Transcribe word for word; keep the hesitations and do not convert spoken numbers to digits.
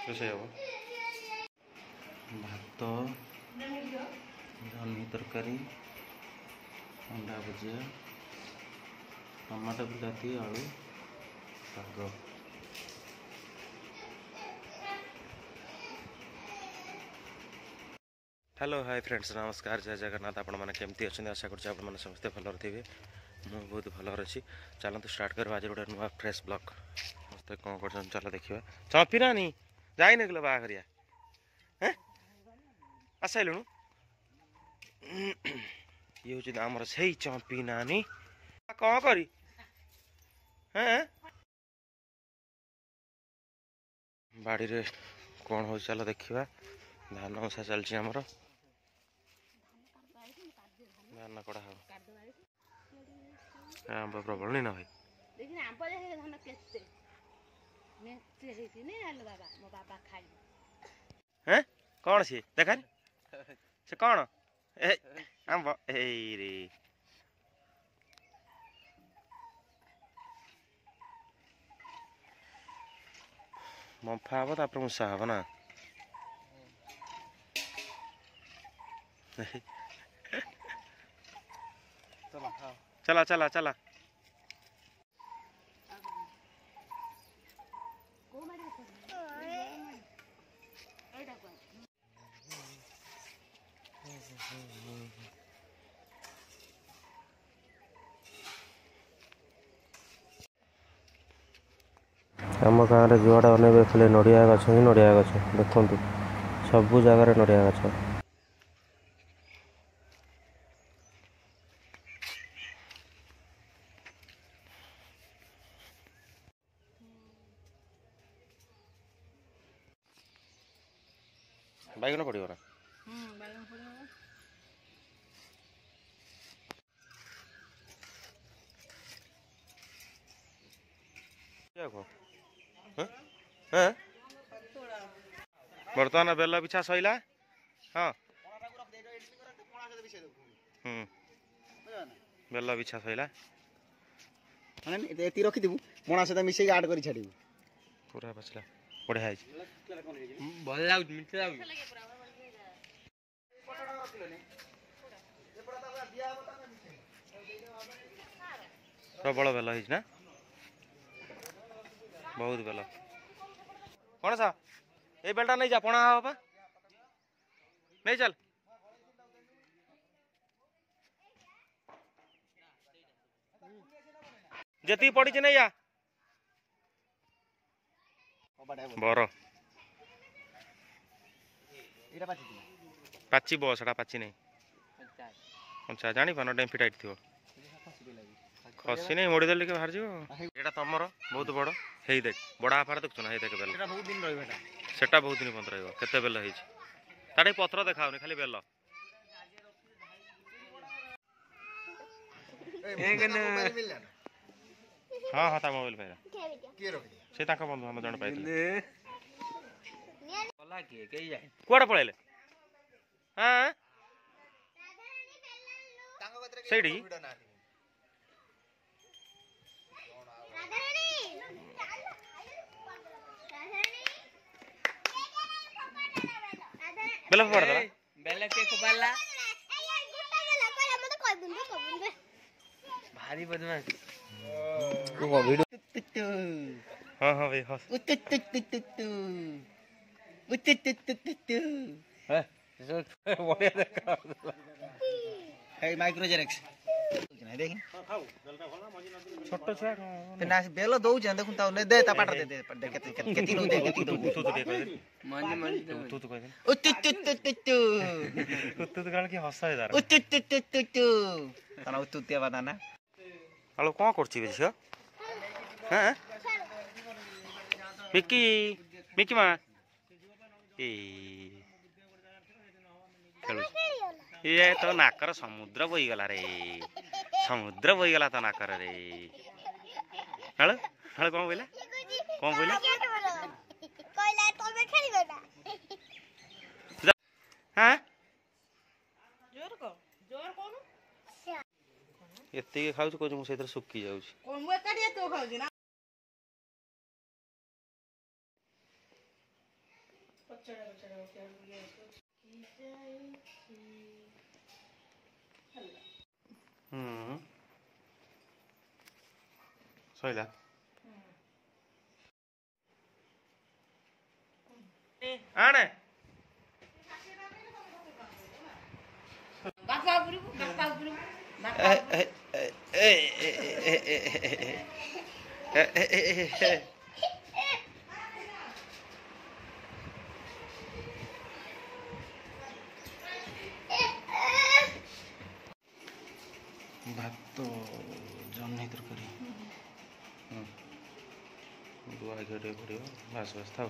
ରୋଷେଇ ହେବ ଭାତ, ଜହ୍ନି ତରକାରୀ, ଅଣ୍ଡା ଭୁଜିଆ, ଟମାଟୋ ବିଲାତି ଆଳୁ ଶାଗ। ହ୍ୟାଲୋ ହାଇ ଫ୍ରେଣ୍ଡସ୍, ନମସ୍କାର, ଜୟ ଜଗନ୍ନାଥ। ଆପଣମାନେ କେମିତି ଅଛନ୍ତି? ଆଶା କରୁଛି ଆପଣମାନେ ସମସ୍ତେ ଭଲରେ ଥିବେ। ମୁଁ ବହୁତ ଭଲରେ ଅଛି। ଚାଲନ୍ତୁ ଷ୍ଟାର୍ଟ କରିବା ଆଜି ଗୋଟେ ନୂଆ ଫ୍ରେଶ୍ ବ୍ଲଗ୍। ସମସ୍ତେ କ'ଣ କରୁଛନ୍ତି ଚାଲ ଦେଖିବା। ଚମ୍ପି ନାନୀ ଯାଇନ କିଲୋ ବାହାଘରିଆ? ହେଁ, ଆସିସାଇଲୁଣୁ? ଇଏ ହେଉଛି ଆମର ସେଇ ଚମ୍ପି ନାନୀ। କ'ଣ କରି ହେଁ ବାଡ଼ିରେ କ'ଣ ହେଉଛି ଚାଲ ଦେଖିବା। ଧାନ ଉଷା ଚାଲିଛି ଆମର, ଧାନ କଢ଼ା ହବ। ଆମ୍ବ ପ୍ରବଳ ନି ନା ଭାଇ? ହେଁ, କ'ଣ ସିଏ ଦେଖାନି, ସେ କ'ଣ? ଏ ଆମ୍ବ ଏଇରେ ମମ୍ଫା ହବ, ତାପରେ ମୂଷା ହବ ନା? ଚାଲ ଚାଲ ଚାଲ। ଆମ ଗାଁରେ ଯୁଆଡ଼େ ଅନେଇବେ ଖାଲି ନଡ଼ିଆ ଗଛ ହିଁ ନଡ଼ିଆ ଗଛ। ଦେଖନ୍ତୁ, ସବୁ ଜାଗାରେ ନଡ଼ିଆ ଗଛ। ବାଇଗଣ ପଡ଼ିବ ନା? ବର୍ତ୍ତମାନ ବେଲ ବିଛା ସଇଲା। ହଁ, ହୁଁ, ବେଲ ବିଛା ସଇଲା। ମାନେ ଏତିକି ରଖିଥିବୁ, ପଣା ସହିତ ମିଶେଇକି ଆଡ୍ କରି ଛାଡ଼ିବୁ। ପୁରା ପାଚିଲା, ବଢ଼ିଆ ହେଇଛି, ଭଲ ଲାଗୁଛି, ମିଠା ଲାଗୁଛି। ପ୍ରବଳ ବେଲ ହେଇଛି ନା? ବହୁତ ବେଲ। ପଣସ ଏଇ ବେଲଟା ନେଇଯା, ପଣା ହବ ପା, ନେଇ ଚାଲ। ଯେତିକି ପଡ଼ିଛି ନେଇଯା। ବର ପାଚିବ, ସେଟା ପାଚି ନାହିଁ, କଞ୍ଚା, ଜାଣିପାରୁନ, ଡେମ୍ଫି ଟାଇଟ୍ ଥିବ। ଖସି ନାହିଁ, ମୋଡ଼ିଦେଲେ ଟିକେ ବାହାରିଯିବ। ଏଇଟା ତମର ବହୁତ ବଡ଼ ହେଇ ଦେଖ, ବଡ଼ ଆଫାର ଦେଖୁଛୁ ନା? ହେଇ ଦେଖ ବେଲ, ସେଟା ବହୁତ ଦିନ ପର୍ଯ୍ୟନ୍ତ ରହିବ। କେତେ ବେଲ ହେଇଛି ତାର, ପତ୍ର ଦେଖାଉନି, ଖାଲି ବେଲ। ହଁ ହଁ, ତା ମୋବାଇଲ ପାଇଲା ସେ, ତାଙ୍କ ବନ୍ଧୁ ଆମ ଜଣେ ପାଇଥିଲେ। କୁଆଡ଼େ ପଳେଇଲେ? ହଁ, ସେଇଠି ବେଲ ଫୋପାଡ଼ି ଦେଲା। ବେଲ କିଏ ଫୋପାଡ଼ିଲା? ଭାରି ବଦମାସ। ହଁ ହଁ ଭାଇ, ହସ। ବଢିଆ ଦେଖା। ଏଇ ମାଇକ୍ରୋ ଜେରେକ୍ସ ଦେଖି, ଛୋଟ ଛୁଆ ନା, ବେଲ ଦଉଛି ଦେଖୁন ତାଉ ଦେ, ତା ପାଟରେ ଦେ, ଦେ କେତେ କେତେ ଦଉଛି, କେତେ ଦଉଛି। ଉତୁ ଟିକେ କହିଦେ, ଉତୁ ତୁ କହିଦେ, ଉତୁ ତୁ ତୁ ତୁ ତୁ ଉତୁ ତୁ। କାରଣ କି ହସ ତାର, ଉତୁ ତୁ ତୁ ତୁ ତୁ ତାନା ଉତୁ ତିଆ ବାଦାନା। ଆଳୁ କ'ଣ କରୁଛି ବେ ଝିଅ? ହଁ, ମିକି ମିକି ମା ଏଇ ଖେଳୁଛି। ଇଏ ତୋ ନାକର ସମୁଦ୍ର ବୋଇଗଲା ରେ, ସମୁଦ୍ର ବୋଇଗଲା ତୋ ନାକରରେ। ଆଳୁ ଆଳୁ କ'ଣ ବୋଇଲା? କ'ଣ ବୋଇଲା? ହଁ, ଏତିକି ଖାଉଛି, କହୁଛି ମୁଁ ସେଇଥିରେ ଶୁଖି ଯାଉଛି। ହୁଁ, ସଇଲା। ଆଣେ। ବାପା ଉପରକୁ, ବାପା ଉପରକୁ। ଭାତ, ଜହ୍ନି ତରକାରୀ, ଗୁଆ ଘିଅ ଟିକେ ପଡ଼ିବ। ବାସ୍ ବାସ୍, ଥାଉ।